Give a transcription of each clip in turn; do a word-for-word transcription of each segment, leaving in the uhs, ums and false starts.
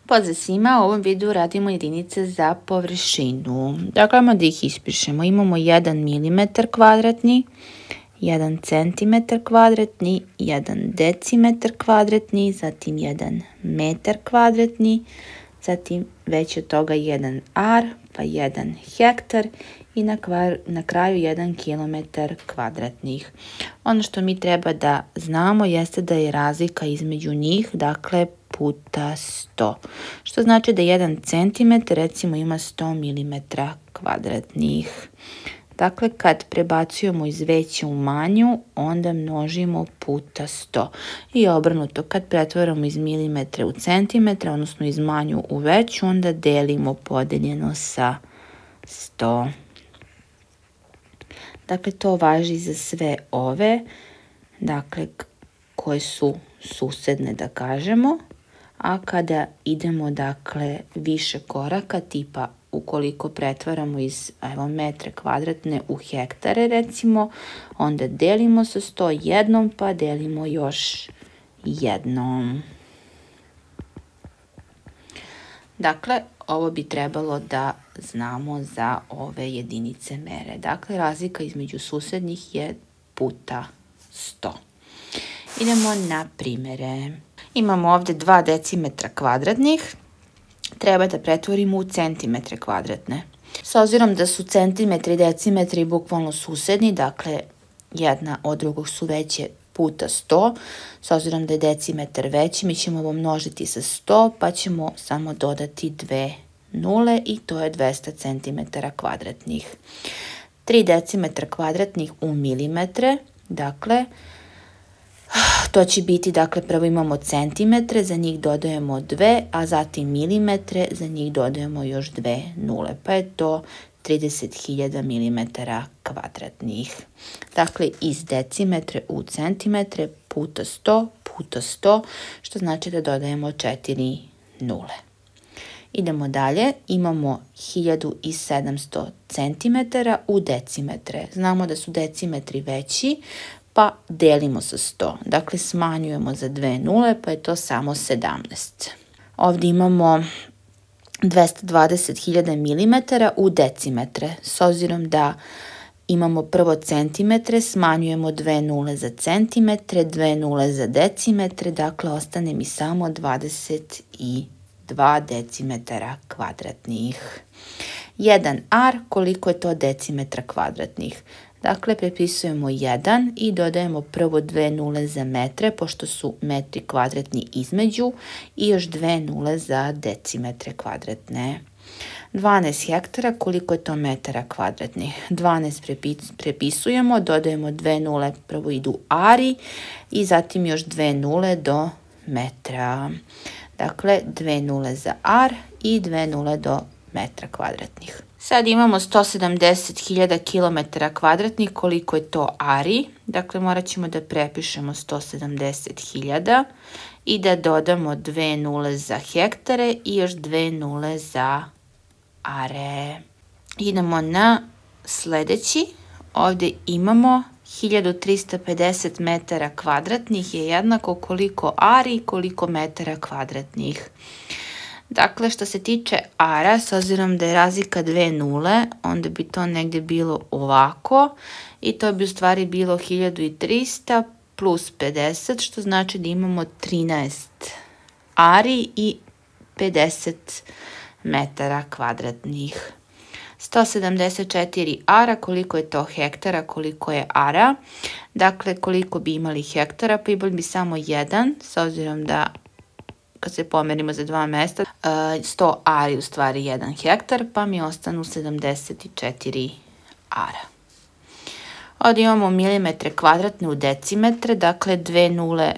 Pozdrav svima, u ovom videu radimo jedinice za površinu. Dakle, imamo da ih ispišemo. Imamo jedan milimetar kvadratni, jedan centimetar kvadratni, jedan decimetar kvadratni, zatim jedan metar kvadratni, zatim već od toga jedan ar, pa jedan hektar i na, kvar, na kraju jedan kilometar kvadratnih. Ono što mi treba da znamo jeste da je razlika između njih, dakle, puta sto. Što znači da jedan centimetar recimo ima sto milimetara kvadratnih. Dakle, kad prebacujemo iz veće u manju, onda množimo puta sto. I obrnuto, kad pretvaramo iz milimetra u centimetra, odnosno iz manju u veću, onda delimo podeljeno sa sto. Dakle, to važi za sve ove, dakle, koje su susedne, da kažemo. A kada idemo, dakle, više koraka, tipa ukoliko pretvaramo iz evo, metre kvadratne u hektare, recimo, onda delimo sa sto jednom, pa delimo još jednom. Dakle, ovo bi trebalo da znamo za ove jedinice mere. Dakle, razlika između susednih je puta sto. Idemo na primere. Imamo ovde dva decimetra kvadratnih. Treba da pretvorimo u centimetre kvadratne. S obzirom da su centimetri i decimetri bukvalno susedni, dakle, jedna od drugog su veće puta sto, s obzirom da je decimetar veći, mi ćemo ovo množiti sa sto, pa ćemo samo dodati dve nule i to je dvesta centimetara kvadratnih. tri decimetra kvadratnih u milimetre, dakle, to će biti, dakle, prvo imamo centimetre, za njih dodajemo dve, a zatim milimetre, za njih dodajemo još dve nule, pa je to trideset hiljada milimetara kvadratnih. Dakle, iz decimetre u centimetre puta sto puta sto, što znači da dodajemo četiri nule. Idemo dalje, imamo hiljadu sedamsto centimetara u decimetre. Znamo da su decimetri veći, pa delimo sa sto. Dakle, smanjujemo za dve nule, pa je to samo sedamnaest. Ovdje imamo dvesta dvadeset hiljada milimetara u decimetre. S obzirom da imamo prvo centimetre, smanjujemo dve nule za centimetre, dve nule za decimetre, dakle, ostane mi samo dvadeset dva decimetara kvadratnih. jedan ar, koliko je to decimetra kvadratnih? Dakle, prepisujemo jedan i dodajemo prvo dve nule za metre, pošto su metri kvadratni između, i još dve nule za decimetre kvadratne. dvanaest hektara, koliko je to metara kvadratnih? dvanaest prepisujemo, dodajemo dve nule, prvo idu ari i zatim još dve nule do metra. Dakle, dve nule za ar i dve nule do metra kvadratnih. Sad imamo sto sedamdeset hiljada kilometara kvadratnih, koliko je to ari. Dakle, morat ćemo da prepišemo sto sedamdeset hiljada i da dodamo dve nule za hektare i još dve nule za are. Idemo na sledeći. Ovde imamo hiljadu trista pedeset metara kvadratnih je jednako koliko ari i koliko metara kvadratnih. Dakle, što se tiče ara, s obzirom da je razlika dve nule, onda bi to negde bilo ovako i to bi u stvari bilo hiljadu trista plus pedeset, što znači da imamo trinaest ari i pedeset metara kvadratnih. sto sedamdeset četiri ara, koliko je to hektara, koliko je ara. Dakle, koliko bi imali hektara, pa imali bi samo jedan, s obzirom da kad se pomerimo za dva mesta, sto ari u stvari jedan hektar, pa mi ostanu sedamdeset četiri ara. Ovdje imamo milimetre kvadratne u decimetre, dakle dve nule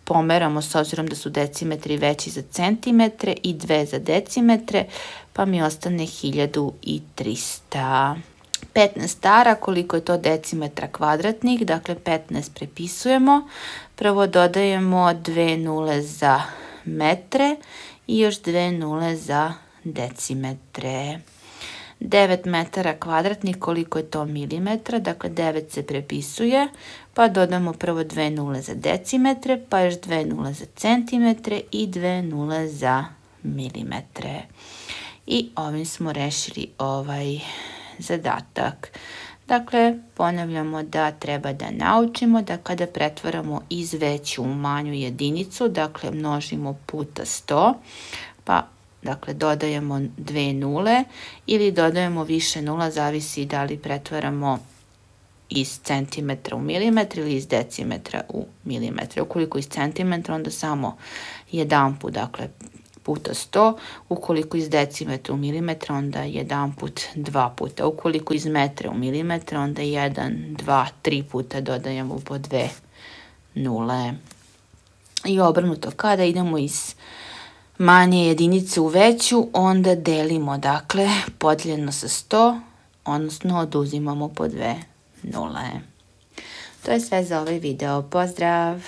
pomeramo s obzirom da su decimetri veći za centimetre i dve za decimetre, pa mi ostane hiljadu trista. petnaest ara, koliko je to decimetra kvadratnih, dakle petnaest prepisujemo, prvo dodajemo dve nule za metre i još dve nule za decimetre. devet metara kvadratnih, koliko je to milimetra, dakle devet se prepisuje, pa dodamo prvo dve nule za decimetre, pa još dve nule za centimetre i dve nule za milimetre. I ovim smo rešili ovaj zadatak. Dakle, ponavljamo da treba da naučimo da kada pretvaramo iz veću u manju jedinicu, dakle množimo puta sto, pa dakle dodajemo dve nule ili dodajemo više nula, zavisi da li pretvaramo iz centimetra u milimetre ili iz decimetra u milimetre. Ukoliko iz centimetra, onda samo jedan put, dakle puta sto, ukoliko iz decimetra u milimetra, onda jedan put dva puta. Ukoliko iz metra u milimetra, onda jedan, dva, tri puta dodajemo po dve nule. I obrnuto, kada idemo iz manje jedinice u veću, onda delimo, dakle, podijeljeno sa sto, odnosno oduzimamo po dve nule. To je sve za ovaj video. Pozdrav!